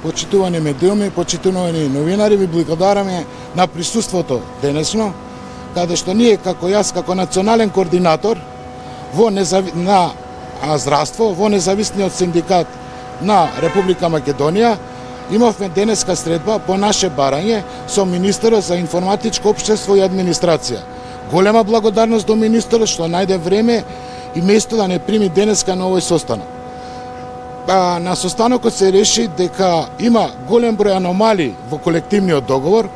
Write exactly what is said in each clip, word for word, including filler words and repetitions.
почитувани медиуми, почитувани новинари, ви благодараме на присуството денесно, каде што ние како јас, како национален координатор во незави... на здравство, во независниот синдикат на Република Македонија, имавме денеска средба по наше барање со министерот за информатичко општество и администрација. Голема благодарност до министерот што најде време и место да не прими денеска на овој состанок. А, на состанокот се реши дека има голем број аномалии во колективниот договор,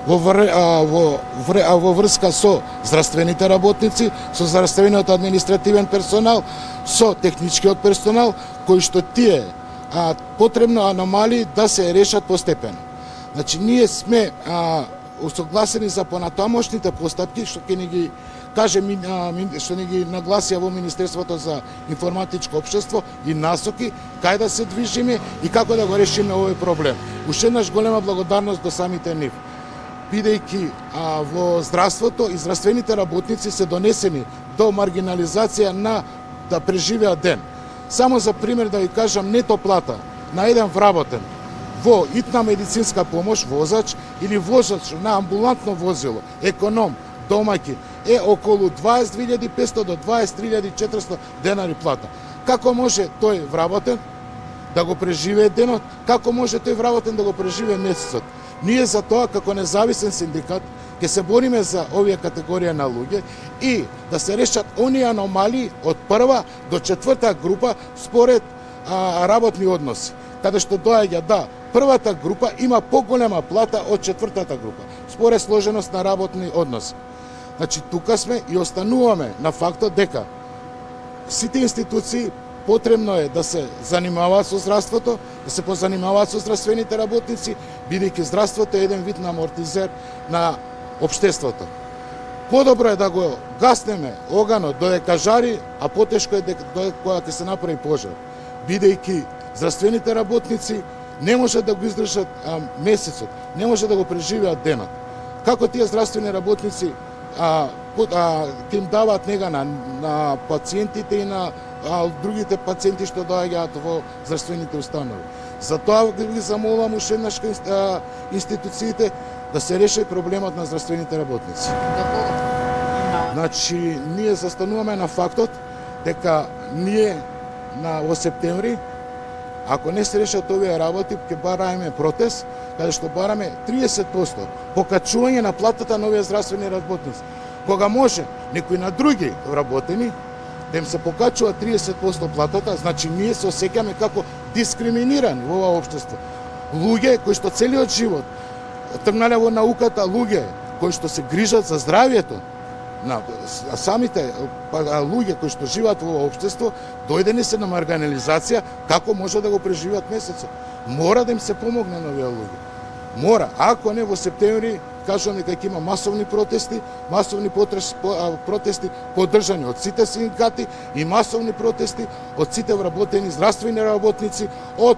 во, вр... а, во, вр... а, во врска со здравствените работници, со здравствениот административен персонал, со техничкиот персонал, кои што тие а, потребно аномалии да се решат постепено. Значи, ние сме а, усогласени за понатамошните постапки, што ќе ни ги каже, што ни ги нагласија во Министерството за информатичко општество и насоки, кај да се движиме и како да го решиме овој проблем. Уште еднаш голема благодарност до самите нив. Бидејќи а, во здравството и здравствените работници се донесени до маргинализација на да преживеат ден. Само за пример да ви кажам, нето плата на еден вработен во итна медицинска помош, возач или возач на амбулантно возило, економ, домаќин, е околу дваесет илјади и петстотини до дваесет три илјади и четиристотини денари плата. Како може тој вработен да го преживее денот? Како може тој вработен да го преживее месецот? Ние за тоа, како независен синдикат, ќе се бориме за овие категорија на луѓе и да се решат оние аномалии од прва до четврта група според а, работни односи. Каде што доаѓа да првата група има поголема плата од четвртата група, според сложеност на работни односи. Значи, тука сме и остануваме на фактот дека сите институции потребно е да се занимаваат со здравството, да се позанимаваат со здравствените работници, бидејќи здравството е еден вид на амортизер на општеството. Подобро е да го гаснеме оганот додека жари, а потешко е додека кога ќе се направи пожар. Бидејќи здравствените работници не може да го издржат а, месецот, не може да го преживеат денот. Како тие здравствени работници а, а, ќе им даваат нега на, на пациентите и на а, другите пациенти што доаѓаат во здравствените установи. Затоа ги замолувам уште еднаш институциите да се реши проблемот на здравствените работници. Значи, ние застануваме на фактот дека ние на во септември, ако не се решат овие работи, ќе бараме протест, каде што бараме триесет проценти покачување на платата на овие здравствени работници. Кога може некои на други вработени да им се покачува триесет проценти платата, значи ние се осеќаме како дискриминирани во ова општество. Луѓе кои што целиот живот тргнале во науката, луѓе кои што се грижат за здравјето на самите луѓе кои што живеат во ова општество, дојдени се на маргинализација, како може да го преживеат месецот. Мора да им се помогне на овие луѓе. Мора, ако не во септември, кажувам дека ќе има масовни протести, масовни протести поддржани од сите синдикати и масовни протести од сите вработени здравствени работници, од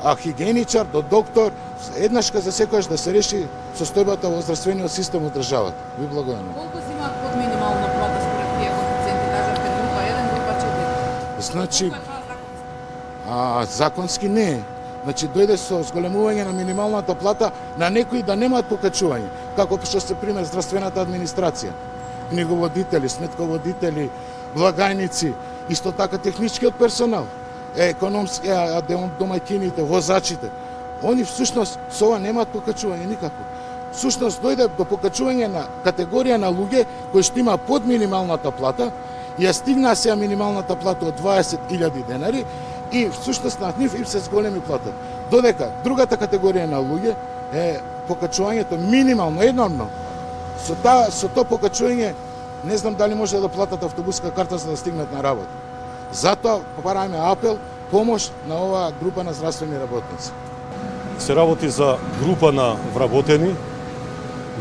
а хигиеничар до доктор, еднашка за секојаш да се реши состојбата во здравствениот систем од државата. Ви благодарам. Колку земаат под минимална плата според тие коефициенти, кажавте група еден, група четири? Значи, а, законски не е. Значи, дојде со зголемување на минималната плата на некои да немаат покачување, како што се пример здравствената администрација, книговодители, сметководители, благајници, исто така техничкиот персонал, економски, домаќините, возачите. Они всушност со ова немаат покачување никако. Всушност дојде до покачување на категорија на луѓе кои што има под минималната плата и ја стигнаа сега минималната плата од дваесет илјади денари и всушност на нив им се зголеми плата. Додека другата категорија на луѓе е покачувањето минимално, еднормно. Со та, со тоа покачување не знам дали може да платат автобуска карта за да стигнат на работа. Затоа правиме апел, помош на оваа група на здравствени работници. Се работи за група на вработени.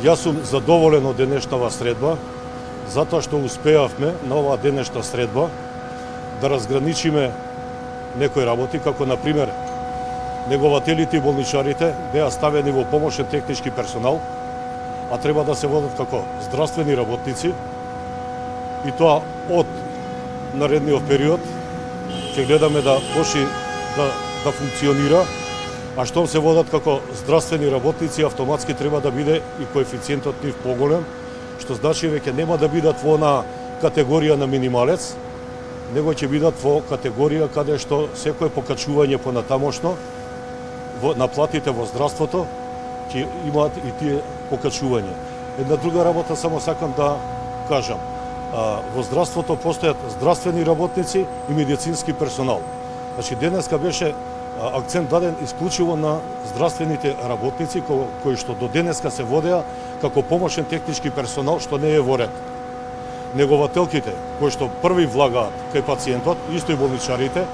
Јас сум задоволен од денешната средба, затоа што успеавме на оваа денешна средба да разграничиме некои работи, како на пример негователите и болничарите беа ставени во помошен технички персонал, а треба да се водат како здравствени работници, и тоа од наредниот период ќе гледаме да почне да, да функционира, а што се водат како здравствени работници, автоматски треба да биде и коефициентот нив поголем, што значи веќе нема да бидат во на категорија на минималец, него ќе бидат во категорија каде што секое покачување понатамошно во наплатите во здравството ќе имаат и тие покачување. Една друга работа само сакам да кажам. А, во здравството постојат здравствени работници и медицински персонал. Значи денеска беше а, акцент даден исклучиво на здравствените работници кои, кои што до денеска се водеа како помошен технички персонал што не е во ред. Негователките кои што први влагаат кај пациентот, исто и болничарите,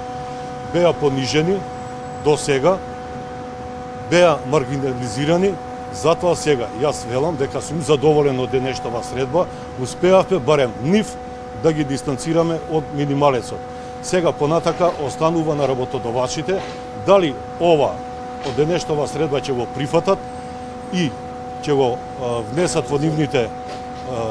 беа понижени до сега, беа маргинализирани. Затоа сега јас велам дека сум задоволен од денешната средба, успеавме барем нив да ги дистанцираме од минималецот. Сега понатака останува на работодавачите дали ова од денешната средба ќе го прифатат и ќе го а, внесат во нивните а,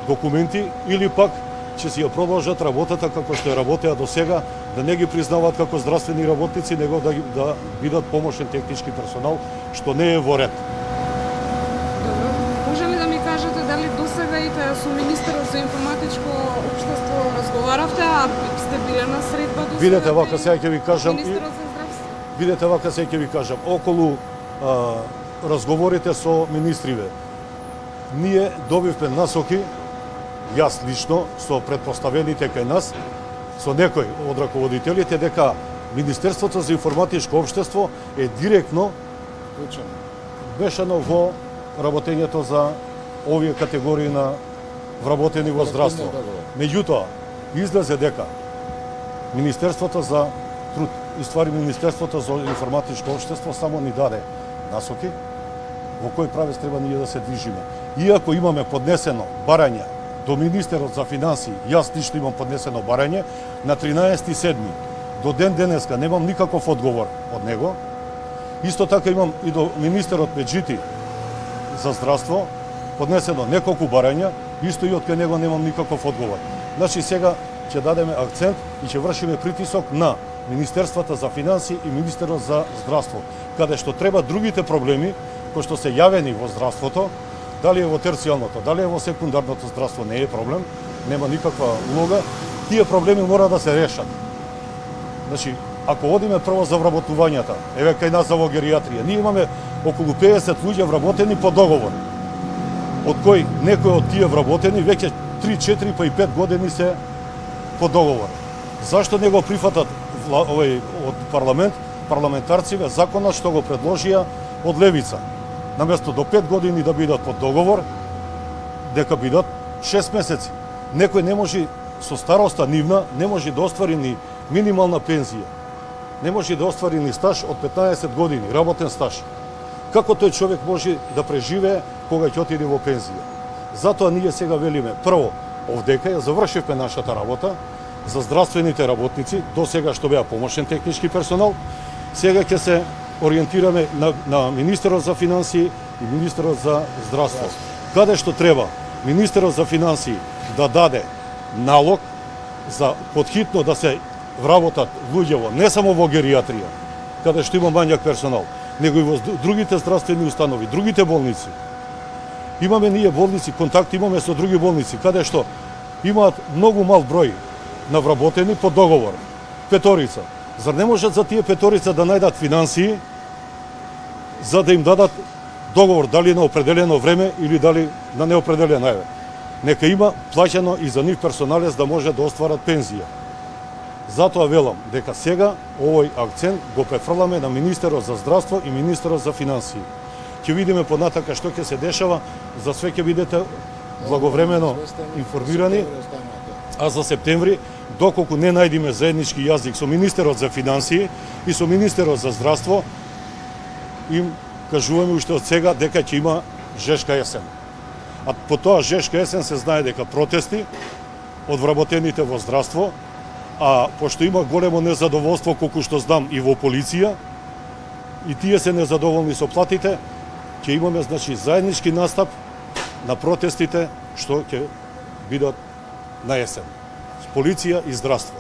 документи или пак ќе си ја продолжат работата како што ја работеа до сега, да не ги признаваат како здравствени работници, него да, да бидат помошен технички персонал, што не е во ред. Добро. Може ли да ми кажете дали досега и со министерот за информатичко општество разговаравте, а сте биле на средба досега? Видете вака сега ќе ви кажам. Министерот за здравство. Видете вака сега ќе ви кажам. Околу а, разговорите со министриве, ние добивме насоки, јас лично, со предпоставените кај нас, со некои од раководителите, дека Министерството за информатичко општество е директно мешано во работењето за овие категории на вработени во здравство. Меѓутоа, излезе дека Министерството за труд, и ствари Министерството за информатичко општество само ни даде насоки во кој правец треба ние да се движиме. Иако имаме поднесено барање до Министерот за финансии, јас лично имам поднесено барање, на тринаесети седми до ден денеска немам никаков одговор од него. Исто така имам и до Министерот Меджити за здравство поднесено неколку барања, исто и од кај него немам никаков одговор. Значи сега ќе дадеме акцент и ќе вршиме притисок на Министерствата за финансии и Министерот за здравство, каде што треба другите проблеми кои што се јавени во здравството, дали е во терцијалното, дали е во секундарното здравство, не е проблем, нема никаква улога, тие проблеми мора да се решат. Значи, ако одиме прво за вработувањата, еве кај нас за во геријатрија, ние имаме околу педесет луѓе вработени по договор, од кои некои од тие вработени веќе три, четири па и пет години се по договор. Зашто не го прифатат овој од парламент, парламентарците законот што го предложија од левица? Наместо до пет години да бидат под договор, дека бидат шест месеци. Некој не може со староста нивна, не може да оствари ни минимална пензија. Не може да оствари ни стаж од петнаесет години, работен стаж. Како тој човек може да преживее кога ќе отиде во пензија? Затоа ние сега велиме, прво, овдека ја завршивме нашата работа за здравствените работници, до сега што беа помошен технички персонал, сега ќе се ориентираме на, на Министерот за финансии и Министерот за здравство. Каде што треба Министерот за финансии да даде налог за подхитно да се вработат луѓево, не само во геријатрија, каде што има мањак персонал, него и во другите здравствени установи, другите болници. Имаме ние болници, контакти имаме со други болници, каде што имаат многу мал број на вработени по договор, петорица. Зар не можат за тие петорица да најдат финансии за да им дадат договор, дали на определено време или дали на неопределено време? Нека има плаќано и за нив персоналец да може да остварат пензија. Затоа велам дека сега овој акцент го префрламе на Министерот за здравство и Министерот за финансии. Ќе видиме понатака што ќе се дешава, за све ќе бидете благовремено информирани, а за септември, доколку не најдиме заеднички јазик со Министерот за финансии и со Министерот за здравство, им кажуваме уште од сега дека ќе има жешка есен. А по тоа жешка есен се знае дека протести од вработените во здравство, а пошто има големо незадоволство, колку што знам и во полиција, и тие се незадоволни со платите, ќе имаме значи заеднички настап на протестите што ќе бидат на есен. Полиција и здравство.